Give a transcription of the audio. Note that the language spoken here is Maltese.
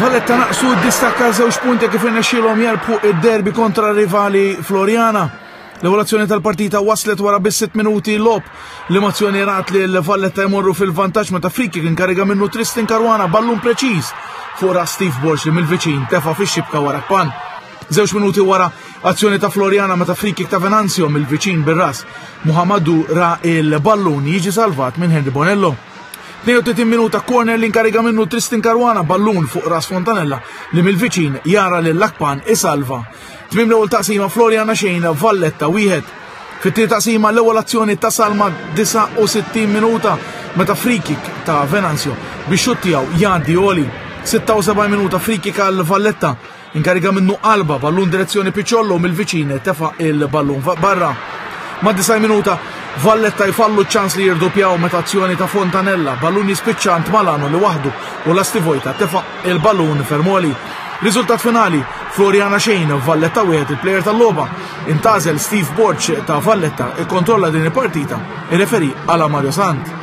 Valletta naqsu d-distakk għal żewġ punti kif irnexxielhom jerbħu id-derby kontra rivali Floriana. L-ewwel azzjoni tal-partita waslet wara biss 6 minuti logħob. L-emozzjoni rat li l-Valletta jmorru fil-vantaġġ meta free kick inkariga minnu Tristan Caruana ballun preċiż fuq ras Steve Borg li mill-viċin tefa' fix-xibka wara Kpan. Żewġ minuti wara azzjoni ta' Floriana meta free kick ta' Venanzio mill-viċin bir-ras. Muhammadu ra il-ballun jiġi salvat minn Henry Bonello. 32 minuta corner li inkariga minnu Tristan Caruana ballun fuq ras Fontanella li mill-viċin jara lil Lakpan isalva. Tmiem l-ewwel taqsima Floriana xejn Valletta wieħed. Fit-tieni taqsima l-ewwel azzjoni tasal ma' 69 minuta meta free kick ta' Venanzio biex xutt tiegħu jgħaddi għoli. 76 minuta free kick għal Valletta Inkariga minnu qalba ballun direzzjoni Picciollo mill-viċin tefa' il-ballun barra. Ma' 90 minuta Valletta jfallu ċans li jirdupjaw meta azzjoni ta' Fontanella, ballun jispiċċa għand Malano li waħdu u lasti vojta tefa' il-ballun Fermoli. Riżultat finali, Floriana xejn, Valletta wieħed il-plejer tal-logħba. Intażel Steve Borg ta' Valletta ikkontrolla din il-partita, ir-referi għala Mario Sant.